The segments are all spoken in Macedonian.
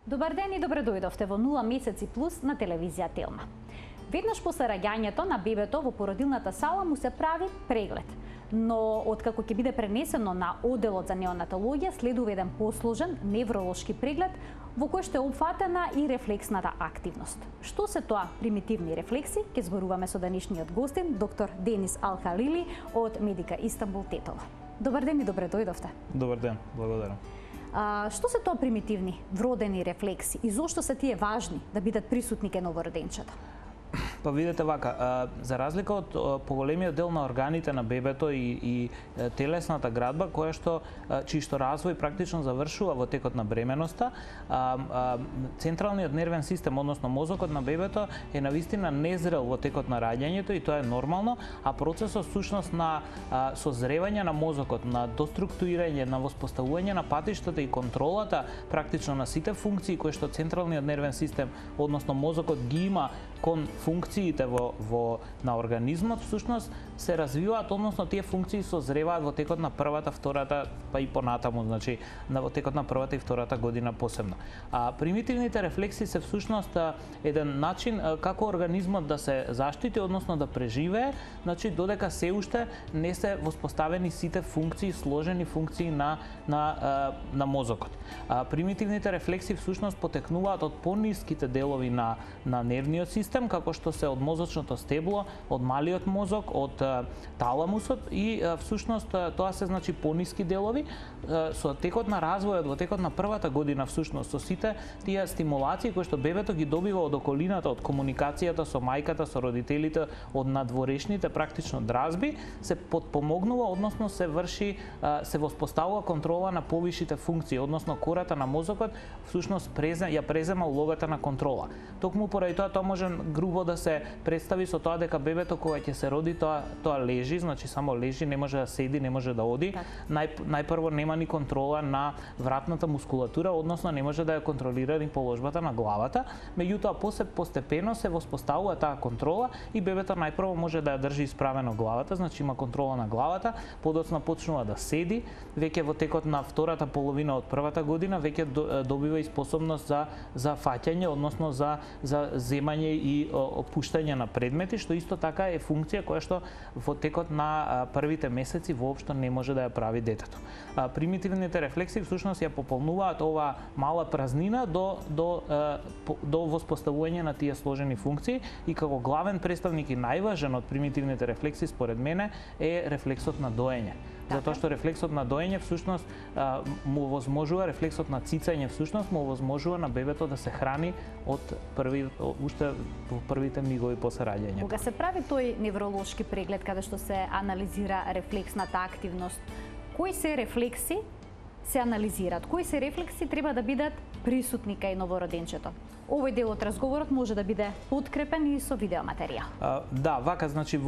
Добар ден и добре дојдовте во 0 месеци плюс на телевизија Телма. Веднаш после раѓањето на бебето во породилната сала му се прави преглед. Но откако ќе биде пренесено на оделот за неонатологија, следува еден посложен невролошки преглед во кој што е опфатена и рефлексната активност. Што се тоа примитивни рефлекси? Ќе зборуваме со денешниот гостин, доктор Денис Алхалили од Медика Истанбул Тетово. Добар ден и добре дојдовте. Добар ден, благодарам. Што се тоа примитивни вродени рефлекси и зошто се тие важни да бидат присутни кај новороденчето? Па видете вака, за разлика од поголемиот дел на органите на бебето и телесната градба, чиј што развој практично завршува во текот на бременоста, централниот нервен систем, односно мозокот на бебето е навистина незрел во текот на раѓањето и тоа е нормално, а процесот всушност на созревање на мозокот, на доструктурирање, на воспоставување на патиштата и контролата практично на сите функции кои што централниот нервен систем, односно мозокот ги има кон функциите на организмот, всушност се развиваат, односно тие функции созреваат во текот на првата, втората, па и понатаму, значи во текот на првата и втората година посебно. Примитивните рефлекси се всушност еден начин како организмот да се заштити, односно да преживее, значи додека се уште не се воспоставени сите функции, сложени функции на мозокот. Примитивните рефлекси всушност потекнуваат од пониските делови на нервниот систем, како што се од мозочното стебло, од малиот мозок, од таламусот и всушност тоа се значи пониски делови. Со текот на развојот, во текот на првата година всушност со сите тие стимулации кои што бебето ги добива од околината, од комуникацијата со мајката, со родителите, од надворешните практично дразби, се подпомогнува, односно се врши, се воспоставува контрола на повишите функции, односно кората на мозокот всушност ја презема улогата на контрола. Токму поради тоа може грубо да се представи со тоа дека бебето кога ќе се роди тоа лежи, значи само лежи, не може да седи, не може да оди. Најпрво нема ни контрола на вратната мускулатура, односно не може да ја контролира ни положбата на главата. Меѓутоа постепено се воспоставува таа контрола и бебето најпрво може да ја држи исправено главата, значи има контрола на главата, подоцна почнува да седи, веќе во текот на втората половина од првата година веќе добива и способност за фаќање, односно за земање и опуштање на предмети, што исто така е функција која што во текот на првите месеци воопшто не може да ја прави детето. Примитивните рефлекси всушност ја пополнуваат оваа мала празнина до воспоставување на тие сложени функции и како главен представник и најважен од примитивните рефлекси според мене е рефлексот на доење. Затоа што рефлексот на доење всушност му возможува, рефлексот на цицање всушност му возможува на бебето да се храни уште во првите мигови после раѓањето. Кога се прави тој невролошки преглед каде што се анализира рефлексната активност, кои се рефлекси се анализираат? Кои се рефлекси треба да бидат присутни кај новороденчето? Овој дел од разговорот може да биде подкрепен и со видеоматеријал. Да, вака, значи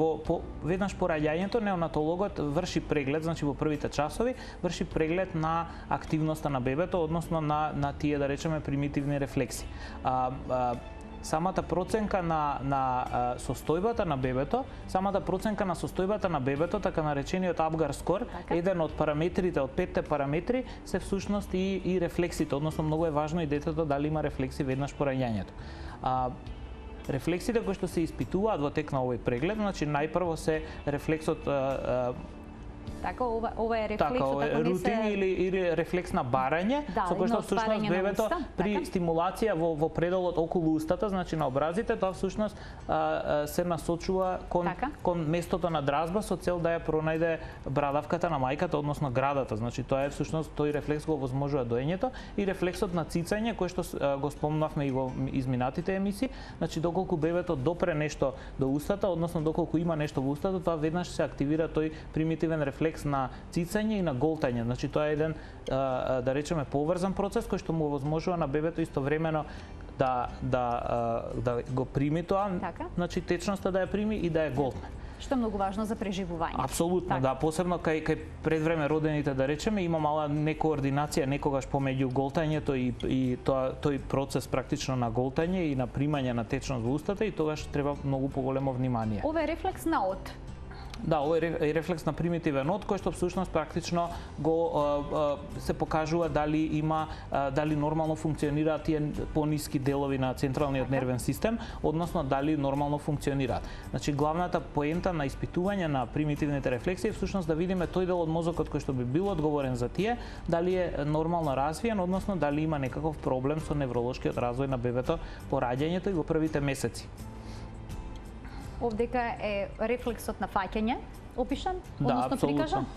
веднаш по раѓањето неонатологот врши преглед, значи во првите часови врши преглед на активноста на бебето, односно на тие, да речеме, примитивни рефлекси. Самата проценка на состојбата на бебето, така наречениот Апгар скор, еден од параметрите, од 5 параметри, се всушност и рефлексите, односно многу е важно и детето дали има рефлекси веднаш по раѓањето. Рефлексите кои што се испитуваат во тек на овој преглед, значи најпрво се рефлексот Така, ова е рефлексот, рутин или рефлекс на барање, со кој што всушност бебето при стимулација во пределот околу устата, значи на образите, тоа всушност се насочува кон местото на дразба со цел да ја пронајде брадавката на мајката, односно градата. Значи тоа е всушност тој рефлекс го возможува доењето и рефлексот на цицање кој што го спомнавме и во изминатите емисии, значи доколку бебето допре нешто до устата, односно доколку има нешто во устата, тоа веднаш се активира тој примитивен рефлекс на цицање и на голтање. Значи тоа е еден, да речеме, поврзан процес кој што му возможува на бебето истовремено да го прими тоа, значи течноста да ја прими и да ја голтне. Што е многу важно за преживување. Апсолутно, да, посебно кај предвреме родените, да речеме, има мала некоординација некогаш помеѓу голтањето и тој процес практично на голтање и на примање на течност во устата и тогаш треба многу поголемо внимание. Ова е рефлекс на од. Да, овој е рефлекс на примитивен од, кој што всушност практично го се покажува дали има дали нормално функционираат тие пониски делови на централниот нервен систем, односно дали нормално функционираат. Значи главната поента на испитување на примитивните рефлекси е всушност да видиме тој дел од мозокот кој што би бил одговорен за тие, дали е нормално развиен, односно дали има некаков проблем со невролошкиот развој на бебето по раѓањето и во првите месеци. Овдека е рефлексот на фаќање опишан, односно прикажан?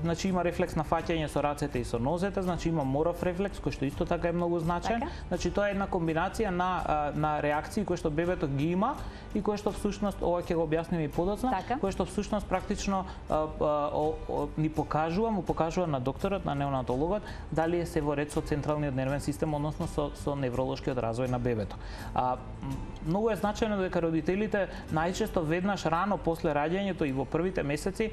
Значи има рефлекс на фаќање со рацете и со нозете, значи има моров рефлекс кој што исто така е многу значаен. Значи тоа е една комбинација на реакции кои што бебето ги има и кои што всушност ова ќе го објасниме и подоцна, кои што всушност практично му покажува на докторот, на неонатологот дали е се во ред со централниот нервен систем, односно со невролошкиот развој на бебето. Многу е значајно дека родителите најчесто веднаш рано после раѓањето и во првите месеци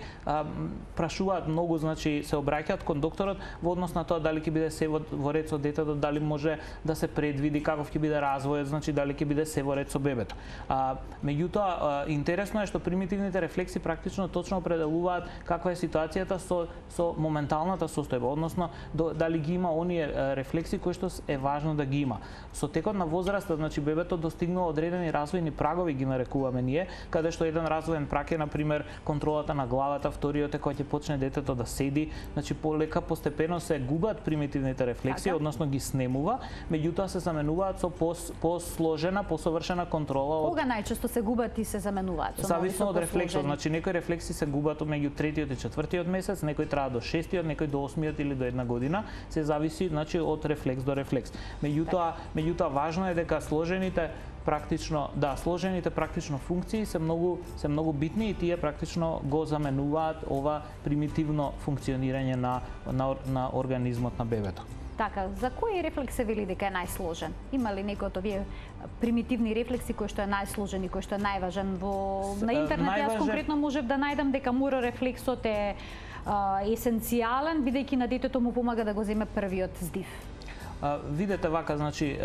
прашуваат многу, значи се обраќаат кон докторот во однос на тоа дали ќе биде се во ред со детето, дали може да се предвиди каков ќе биде развојот, значи дали ќе биде се во ред со бебето. Меѓутоа интересно е што примитивните рефлекси практично точно определуваат каква е ситуацијата со моменталната состојба, односно дали ги има оние рефлекси кои што е важно да ги има. Со текот на возраста, значи бебето достигнува одредени развојни прагови, ги нарекуваме ние, каде што еден развоен праг е на пример контролата на главата, вториот е кога ќе почне детето да седи, значи полека постепено се губат примитивните рефлекси, односно ги снемува, меѓутоа се заменуваат со посложена, посовршена контрола. Кога најчесто се губат и се заменуваат? Зависно од рефлексот, значи некои рефлекси се губат меѓу 3-тиот и 4-тиот месец, некои траа до 6-тиот, некои до 8-тиот или до 1 година, се зависи значи од рефлекс до рефлекс. Меѓутоа важно е дека сложените практично функции се многу битни и тие практично го заменуваат ова примитивно функционирање на организмот на бебето. Така, за кој рефлекс се вели дека е најсложен? Има ли некој од овие примитивни рефлекси кој што е најсложен и кој што е најважен? На интернет јас конкретно можев да најдам дека морорефлексот е есенцијален, бидејќи на детето му помага да го земе првиот здив. Видете вака, значи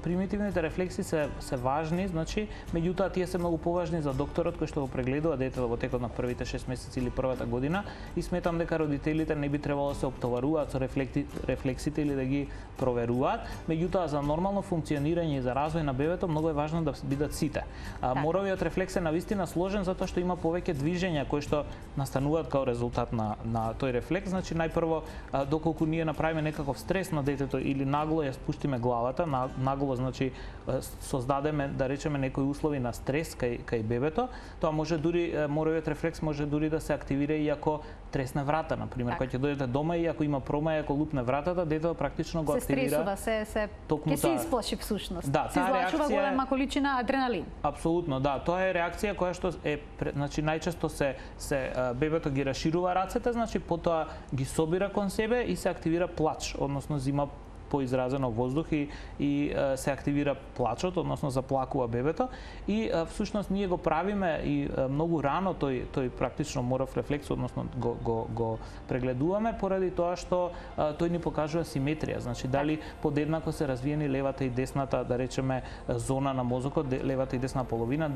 примитивните рефлекси се важни, значи меѓутоа тие се многу поважни за докторот кој што го прегледува детето во текот на првите 6 месеци или првата година и сметам дека родителите не би требало да се оптоваруваат со рефлексите или да ги проверуваат, меѓутоа за нормално функционирање и за развој на бебето многу е важно да бидат сите. Моровиот рефлекс е навистина сложен затоа што има повеќе движења кои што настануваат као резултат на тој рефлекс, значи најпрво доколку ние направиме некаков стрес на детето или нагло ја спуштиме главата, нагло значи создадеме да речеме некои услови на стрес кај бебето, тоа може дури моровиот рефлекс може дури да се активира и ако тресне врата, на пример, кога ќе дојдете дома и ако има промаја, ако лупне вратата, детето практично го активира. Се стресува, ќе се исплаши всушност. Да, се излачува голема количина адреналин. Апсолутно, да, тоа е реакција која што е значи најчесто се бебето ги раширува рацете, значи потоа ги собира кон себе и се активира плач, односно зима поизразено воздух и се активира плачот, односно заплакува бебето и всушност ние го правиме и многу рано тој практично моров рефлекс, односно го прегледуваме поради тоа што тој ни покажува симетрија, значи дали подеднако се развиени левата и десната, да речеме, зона на мозокот, левата и десна половина,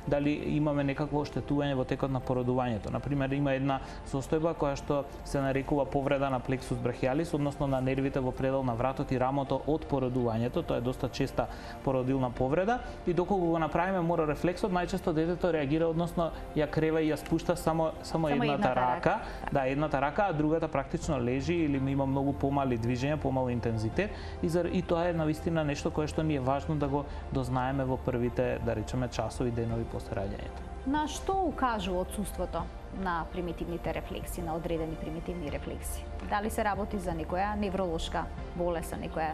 дали имаме некакво оштетување во текот на породувањето. На пример, има една состојба која што се нарекува повреда на плексус брахиалис, односно на нервите во предел на вратот и рамото од породувањето, тоа е доста честа породилна повреда и доколку го направиме морорефлексот, најчесто детето реагира, односно ја крева и ја спушта само едната рака, да, едната рака, а другата практично лежи или има многу помали движења, помал интензитет и тоа е навистина нешто кое што ни е важно да го дознаеме во првите, да речеме, часови, денови после раѓањето. На што укажува отсуството на примитивните рефлекси, на одредени примитивни рефлекси? Дали се работи за некоја невролошка болест, некоја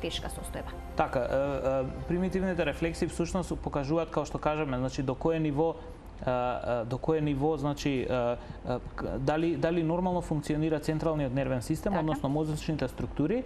тешка состојба? Така, примитивните рефлекси всушност покажуваат, како што кажеме, значи до кое ниво значи дали нормално функционира централниот нервен систем, односно мозочните структури,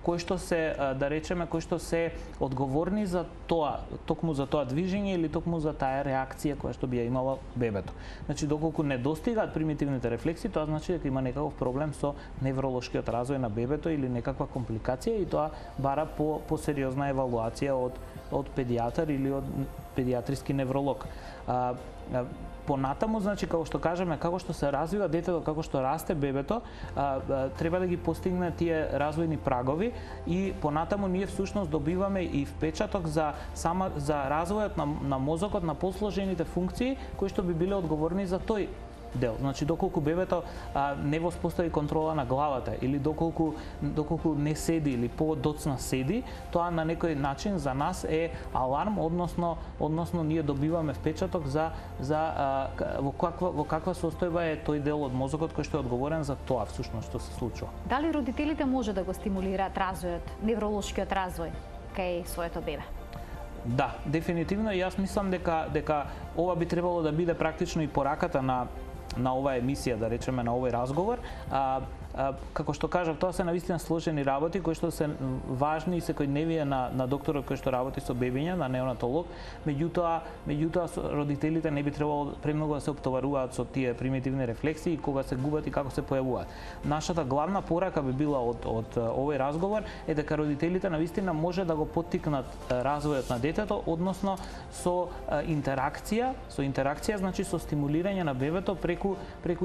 кои што се да речеме кои што се одговорни за тоа, токму за тоа движење или токму за таа реакција која што би ја имала бебето. Значи доколку не достигаат примитивните рефлекси, тоа значи дека има некаков проблем со невролошкиот развој на бебето или некаква компликација и тоа бара по сериозна евалуација од педијатар или од педијатриски невролог. Понатаму, значи, како што кажеме, како што се развива детето, како што расте бебето, треба да ги постигне тие развојни прагови и понатаму ние всушност добиваме и впечаток за развојот на мозокот, на посложените функции кои што би биле одговорни за тој дел. Значи доколку бебето не воспостави контрола на главата или доколку не седи или подоцна седи, тоа на некој начин за нас е аларм, односно ние добиваме впечаток за во каква состојба е тој дел од мозокот кој што е одговорен за тоа всушност што се случува. Дали родителите може да го стимулираат развојот, невролошкиот развој кај своето бебе? Да, дефинитивно, и јас мислам дека ова би требало да биде практично и пораката на оваа емисија, да речеме, на овој разговор. Како што кажав, тоа се навистина сложени работи кои што се важни и секојдневие на докторот кој што работи со бебиња, на неонатолог. Меѓутоа родителите не би требало премногу да се оптоваруваат со тие примитивни рефлекси и кога се губат и како се појавуваат. Нашата главна порака би била од овој разговор е дека родителите навистина може да го поттикнат развојот на детето, односно со интеракција, значи со стимулирање на бебето преку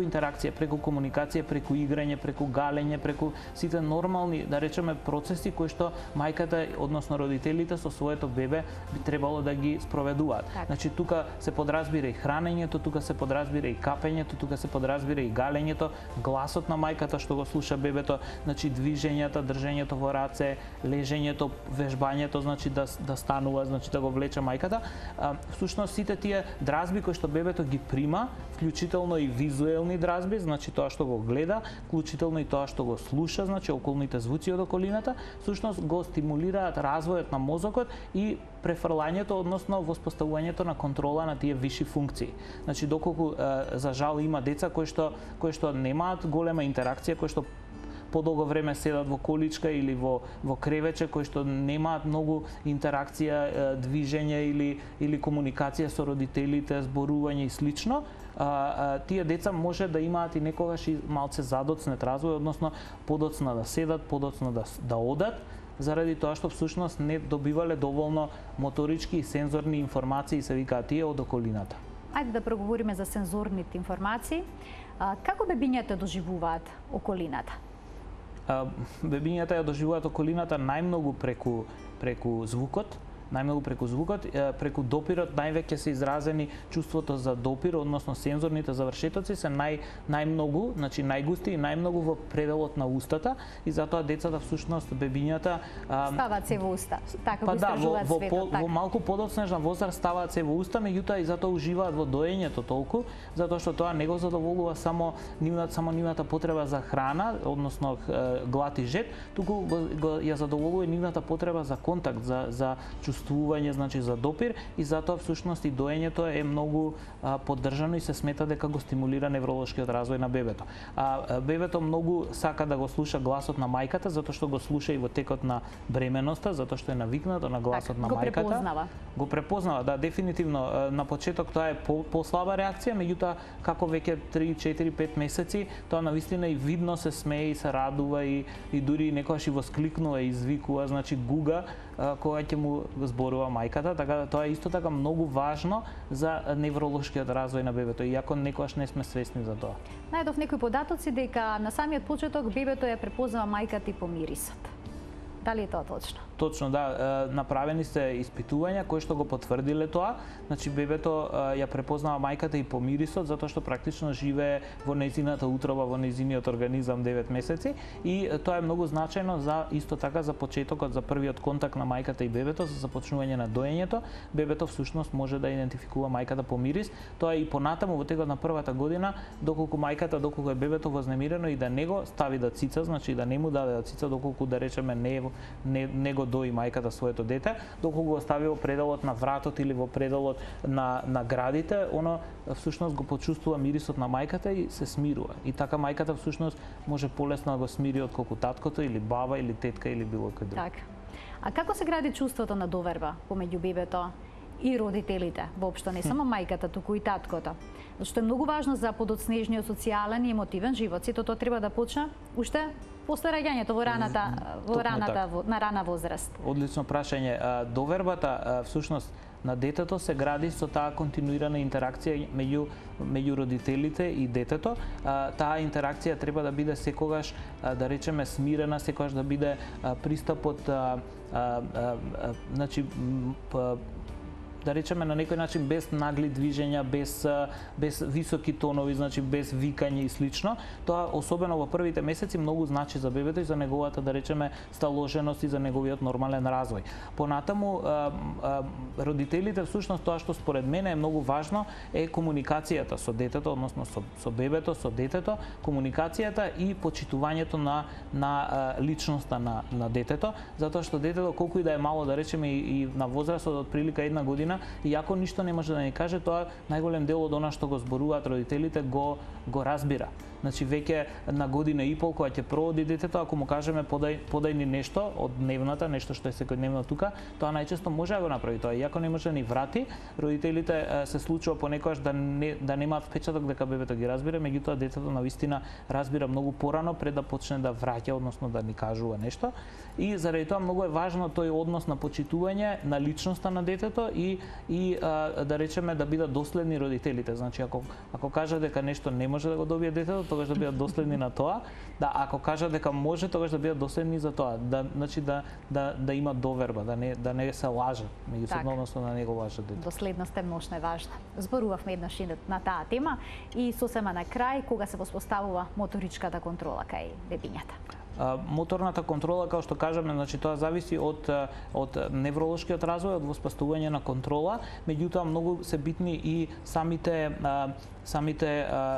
интеракција, преку комуникација, преку играње, преку галење, преку сите нормални, да речеме, процеси кои што мајката, односно родителите со своето бебе би требало да ги спроведуваат. Значи тука се подразбира и хранењето, тука се подразбира и капењето, тука се подразбира и галењето, гласот на мајката што го слуша бебето, значи движењата, држењето во раце, лежењето, вежбањето, значи да станува, значи да го влече мајката. Всушност сите тие дразби кои што бебето ги прима, вклучително и визуелни дразби, значи тоа што го гледа, вклучително и тоа што го слуша, значи околните звуци од околината, всушност го стимулираат развојот на мозокот и префрлањето, односно воспоставувањето на контрола на тие виши функции. Значи доколку за жал има деца кои што немаат голема интеракција, кои што подолго време седат во количка или во кревече, кои што немаат многу интеракција, движење или комуникација со родителите, зборување и слично, тие деца може да имаат и некогаш и малце задоцнет развој, односно подоцна да седат, подоцна да одат, заради тоа што всушност не добивале доволно моторички и сензорни информации, се викаат тие, од околината. Ајде да проговориме за сензорните информации. Како бебињата доживуваат околината? Бебињата ја доживуваат околината најмногу преку звукот, преку допирот највеќе се изразени чувството за допир, односно сензорните завршетоци се најмногу, значи најгусти и најмногу во пределот на устата и затоа децата всушност бебињата ставаат се во уста. Така го истражуваат светот. Во малку подоцнежна возраст ставаат се во уста, меѓутоа и затоа уживаат во доењето толку, затоа што тоа не го задоволува само нивната потреба за храна, односно глад и жет, туку ја задоволува нивната потреба за контакт, за чувствување, значи за допир, и затоа всушност и доењето е многу поддржано и се смета дека го стимулира невролошкиот развој на бебето. Бебето многу сака да го слуша гласот на мајката, затоа што го слуша и во текот на бременоста, затоа што е навикнато на гласот на мајката. Го препознава, да, дефинитивно. На почеток тоа е послаба реакција, меѓутоа како веќе 3, 4, 5 месеци, тоа навистина и видно се смее и се радува и дури некогаш и воскликнува и извикува, значи гуга кога ќе му зборува мајката, така тоа е исто така многу важно за невролошкиот развој на бебето, иако некогаш не сме свесни за тоа. Најдов некои податоци дека на самиот почеток бебето ја препознава мајката и по мирисот. Дали е тоа точно? Точно, да. Направени се испитувања кои што го потврдиле тоа. Значи бебето ја препознава мајката и по мирисот, затоа што практично живее во нејзината утроба, во нејзиниот организам 9 месеци, и тоа е многу значајно за исто така за почетокот, за првиот контакт на мајката и бебето, за започнување на доењето. Бебето всушност може да идентификува мајката по мирис. Тоа е и понатаму во текот на првата година, доколку е бебето вознемирено и да не го стави да цица, значи да не му даде да цица, доколку да речеме не е не го дои мајката своето дете, доколку го остави во пределот на вратот или во пределот на градите, оно всушност го почувствува мирисот на мајката и се смирува. И така мајката всушност може полесно да го смири отколку таткото или баба или тетка или било кој друг. Така. А како се гради чувството на доверба помеѓу бебето и родителите, воопшто не само мајката, туку и таткото? Што е многу важно за подоцнежниот социјален и емотивен живот. Сето тоа треба да почне уште после раѓањето на рана возраст. Одлично прашање. Довербата всушност на детето се гради со таа континуирана интеракција меѓу родителите и детето. Таа интеракција треба да биде секогаш, да речеме, смирена, секогаш да биде пристапот, значи, да речеме на некој начин без нагли движења, без високи тонови, значи без викање и слично. Тоа особено во првите месеци многу значи за бебето и за неговата, да речеме, сталоженост и за неговиот нормален развој. Понатаму родителите всушност тоа што според мене е многу важно е комуникацијата со детето, односно со бебето, со детето, комуникацијата и почитувањето на личноста на детето, затоа што детето колку и да е мало, да речеме и на возраст од прилика 1 година, и ако ништо не може да ни каже, тоа најголем дел од она што го зборуваат родителите го разбира. Значи веќе на година и пол кога ќе проводи детето, ако му кажеме подај ни нешто од дневната, нешто што е секојдневно тука, тоа најчесто може да го направи тоа. И ако не може да ни врати, родителите се случува понекогаш да немаат впечаток дека бебето ги разбира, меѓутоа детето навистина разбира многу порано пред да почне да враќа, односно да ни кажува нешто. И заради тоа многу е важно тој однос на почитување на личноста на детето и да речеме да бидат доследни родителите. Значи ако кажа дека нешто не може да го добие детето, тогаш да бидат доследни на тоа. Да, ако кажа дека може, тогаш да бидат доследни за тоа. Значи да има доверба, да не се лаже меѓусебно, односно да не го лаже детето. Доследноста многу е важна. Зборувавме еднаш на таа тема и сосема на крај кога се воспоставува моторичката контрола кај бебињата. Моторната контрола, како што кажаме, значи тоа зависи од невролошкиот развој, од воспоставување на контрола, меѓутоа многу се битни и самите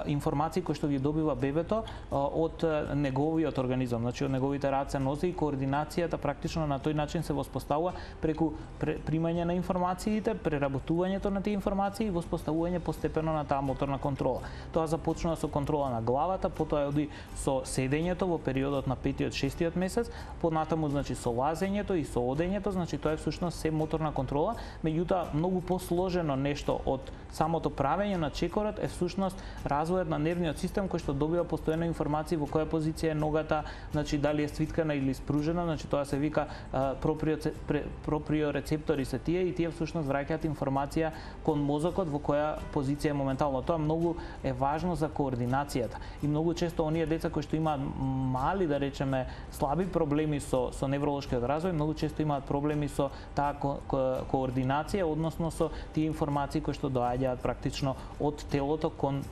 информации кои што ги добива бебето од неговиот организам, значи од неговите раце, нозе, и координацијата практично на тој начин се воспоставува преку примање на информациите, преработувањето на тие информации и воспоставување постепено на таа моторна контрола. Тоа започнува со контрола на главата, потоа оди со седењето во периодот на 5-6 месец, понатаму значи со лазењето и со одењето, значи тоа е всушност се моторна контрола, меѓутоа многу посложено нешто од самото правење на чекорот е всушност развојот на нервниот систем кој што добива постојано информации во која позиција е ногата, значи дали е свиткана или спружена, значи тоа се вика проприорецептори се тие и тие всушност враќаат информација кон мозокот во која позиција е моментално. Тоа многу е важно за координацијата и многу често оние деца кои што имаат мали, да речеме, слаби проблеми со невролошкиот развој, многу често имаат проблеми со таа координација, односно со тие информации кои што доаѓаат практично од телото кон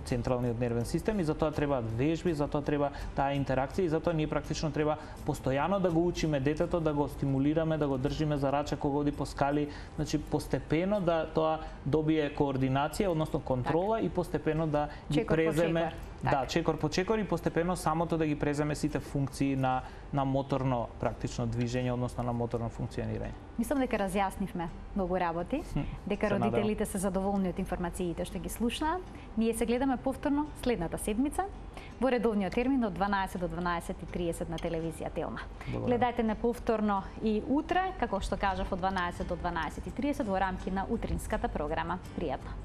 централниот нервен систем, и затоа требаат вежби, затоа треба таа интеракција и затоа ние практично треба постојано да го учиме детето, да го стимулираме, да го држиме за раче кога оди по скали, значи постепено да тоа добие координација, односно контрола, и постепено да ги преземе чекор по чекор и постепено самото да ги преземе сите функции на моторно практично движење, односно на моторно функционирање. Мислам дека разјаснивме многу работи, дека родителите се задоволни од информациите што ги слушнаа. Ние се гледаме повторно следната седмица во редовниот термин од 12 до 12:30 на телевизија Телма. Гледајте не повторно и утре, како што кажав, од 12 до 12:30 во рамки на утринската програма. Пријатно.